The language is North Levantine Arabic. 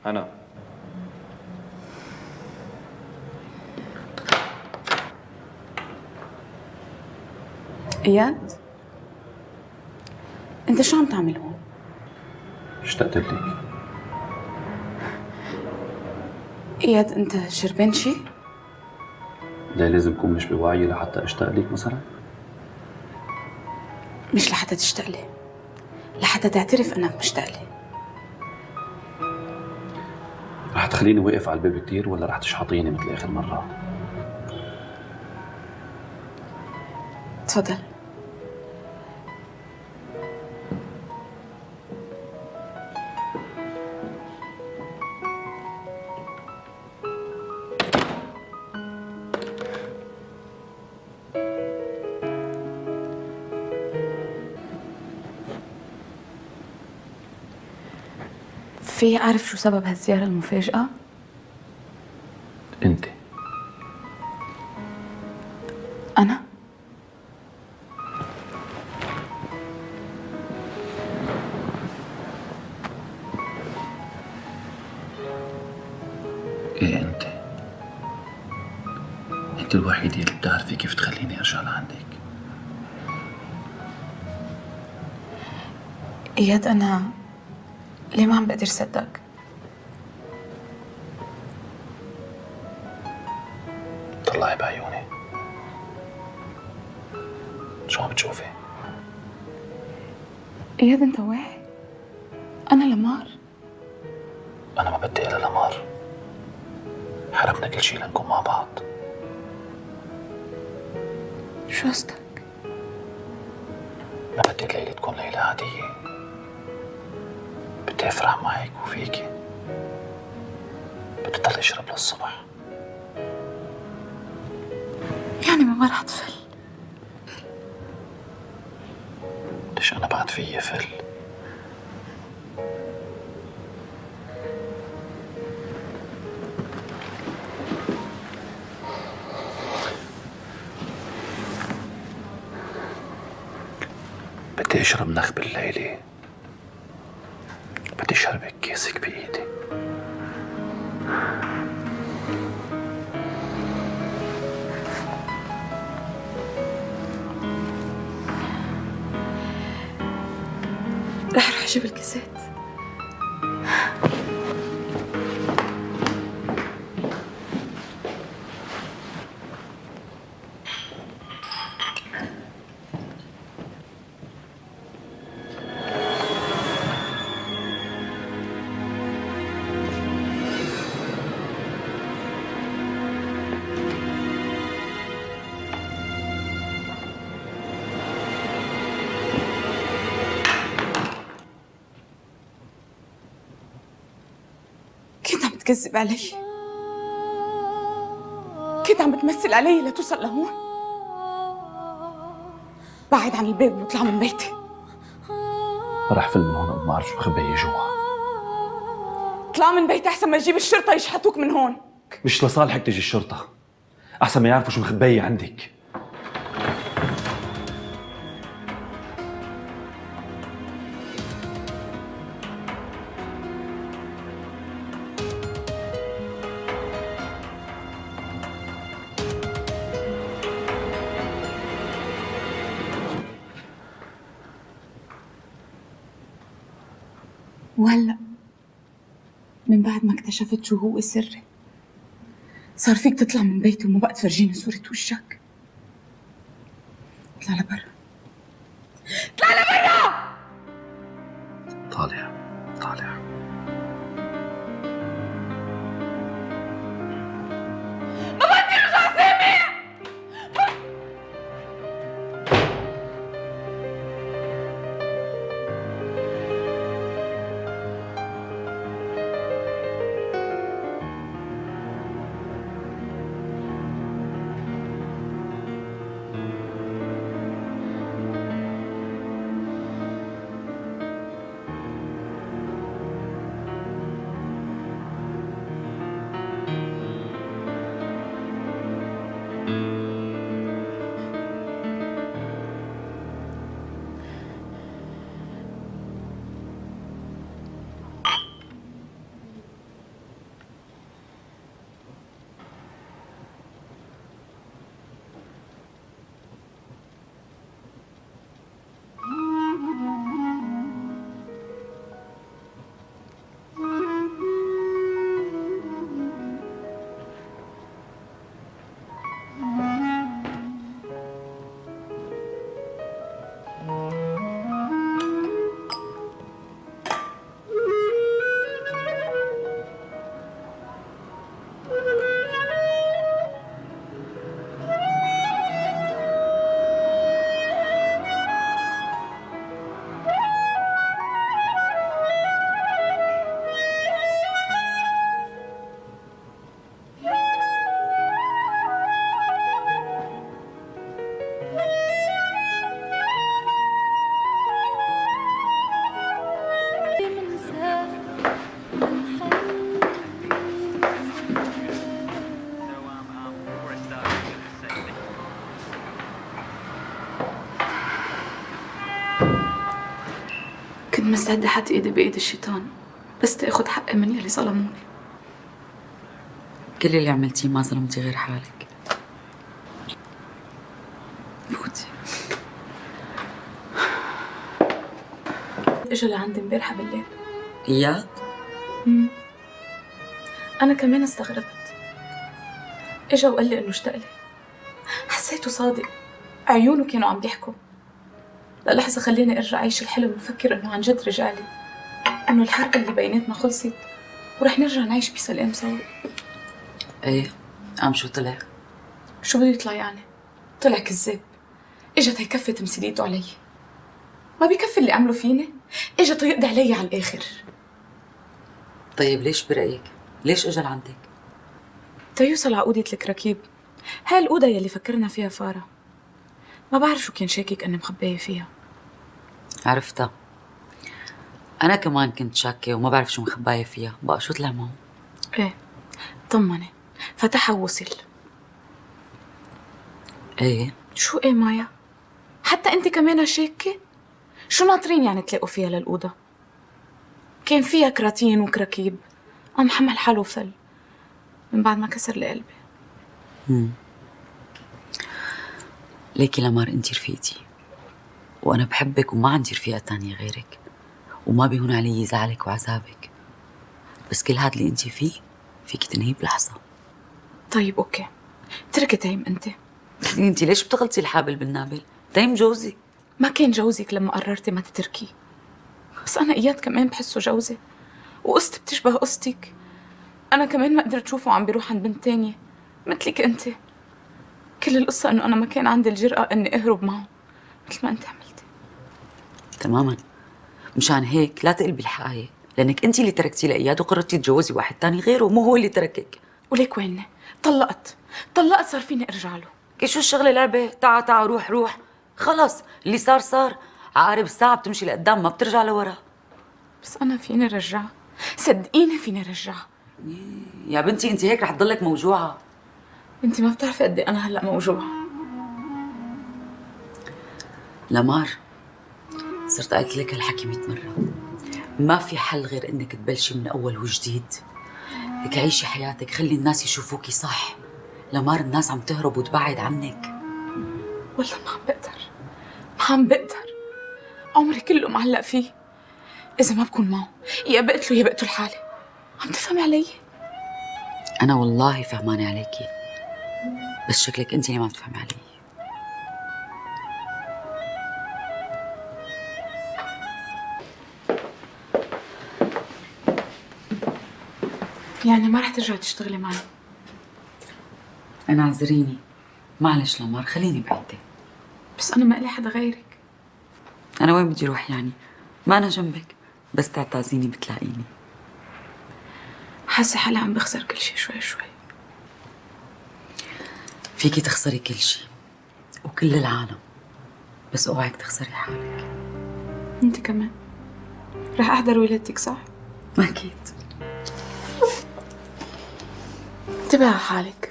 أنا إياد، أنت شو عم تعمل هون؟ اشتقت لك. إياد، أنت شربان شي؟ ليه لازم أكون مش بوعي لحتى أشتاق لك مثلا؟ مش لحتى تشتاق لي، لحتى تعترف أنك مشتاق لي. رح تخليني واقف على الباب كتير ولا رح تشحطيني مثل آخر مرة؟ تفضل. في أعرف شو سبب هالزيارة المفاجئة؟ أنت. أنا؟ إيه أنت. أنت الوحيدة اللي بتعرفي كيف تخليني أرجع لعندك. إياد، أنا ليه ما عم بقدر صدق؟ طلعي بعيوني. شو عم بتشوفي؟ إياد، أنت واعي؟ أنا لمار. أنا ما بدي إلا لمار. حرمنا كل شي لنكون مع بعض. شو قصدك؟ ما بدي الليلة تكون ليلة عادية. بدي أفرح معك وفيكي. بدي ضل أشرب للصبح. يعني ما رح تفل؟ ليش أنا بعد فيي فل؟ بدي أشرب نخب الليلة. بدي أشربك كاسك بإيدي. رح أروح أجيب الكاسات. تكذب علي، كنت عم بتمثل علي لتوصل لهون. بعد عن الباب واطلع من بيتي. رح فل من هون ما بعرف شو مخبية جوا. اطلع من بيتي احسن ما تجيب الشرطة يشحتوك من هون. مش لصالحك تجي الشرطة، احسن ما يعرفوا شو مخبية عندك. وهلأ من بعد ما اكتشفت شو هو سري صار فيك تطلع من بيتي وما بقى تفرجيني صورة وجهك. اطلع لبرا، اطلع لبرا. طالع طالع. ما بدي ارجع سامع. مستعدة حط ايدي بايد الشيطان بس تاخد حقي من يلي ظلموني. كل اللي عملتيه ما ظلمتي غير حالك. فوتي. اجا لعندي امبارحة بالليل. اياد؟ أنا كمان استغربت. اجا وقال لي إنه اشتاق لي. حسيته صادق، عيونه كانوا عم بيحكوا. للحظة خليني أرجع أعيش الحلم وفكر إنه عن جد رجالي، إنه الحرب اللي بيناتنا خلصت ورح نرجع نعيش بسلام سوا. ايه، قام شو طلع؟ شو بده يطلع يعني؟ طلع كذاب. اجا تيكفي تمثيليته علي. ما بيكفي اللي عمله فيني، اجا تيقضي علي على الآخر. طيب ليش برأيك؟ ليش اجى لعندك؟ تيوصل على أوضة الكراكيب، هاي الأوضة يلي فكرنا فيها فارة. ما بعرف شو كان شاكك أني مخبية فيها. عرفتها. أنا كمان كنت شاكة وما بعرف شو مخباية فيها، بقى شو طلع معه؟ إيه، طمني، فتحها ووصل. إيه؟ شو إيه مايا؟ حتى أنت كمان شاكة؟ شو ناطرين يعني تلاقوا فيها للأوضة؟ كان فيها كراتين وكراكيب، قام حمل حاله وفل من بعد ما كسر لي قلبي. ليكي لمار انتي رفيقتي، وانا بحبك وما عندي رفيقة تانية غيرك، وما بيهون علي زعلك وعذابك، بس كل هاد اللي انتي فيه فيك تنهيه بلحظة. طيب اوكي، اتركي تيم انت. انتي ليش بتغلطي الحابل بالنابل؟ تيم جوزي. ما كان جوزك لما قررتي ما تتركيه، بس انا اياد كمان بحسه جوزي، وقصتي بتشبه قصتك. انا كمان ما قدرت اشوفه عم بيروح عند بنت تانية مثلك انت. كل القصة انه انا ما كان عندي الجرأة اني اهرب معه مثل ما انت عملتي. تماما، مشان هيك لا تقلبي الحقايق، لانك انت اللي تركتي لاياد وقررتي تتجوزي واحد تاني غيره، مو هو اللي تركك. وليك ويني؟ طلقت صار فيني ارجع له. كي شو الشغله لعبه؟ تعا روح خلص، اللي صار صار. عقارب الساعه بتمشي لقدام ما بترجع لورا. بس انا فيني رجعها، صدقيني فيني رجعها. يا بنتي انت هيك رح تضلك موجوعه. انت ما بتعرفي قد ايه انا هلا موجوعه. لمار، صرت قلت لك هالحكي 100 مرة، ما في حل غير انك تبلشي من اول وجديد. هيك عيشي حياتك، خلي الناس يشوفوكي صح. لمار الناس عم تهرب وتبعد عنك. والله ما عم بقدر، عمري كله معلق فيه. اذا ما بكون معه يا بقتله يا بقتل حالي. عم تفهمي علي؟ انا والله فهمانة عليكي، بس شكلك انت اللي ما بتفهمي علي. يعني ما رح ترجعي تشتغلي معي؟ انا اعذريني، معلش لمار، خليني بعيدة. بس انا ما لي حدا غيرك. انا وين بدي اروح يعني؟ ما انا جنبك، بس تعتازيني بتلاقيني. حاسه حالي عم بخسر كل شيء شوي شوي. فيكي تخسري كل شيء وكل العالم، بس اوعك تخسري حالك. انت كمان رح احضر ولادتك صح؟ اكيد. انتبهي على حالك.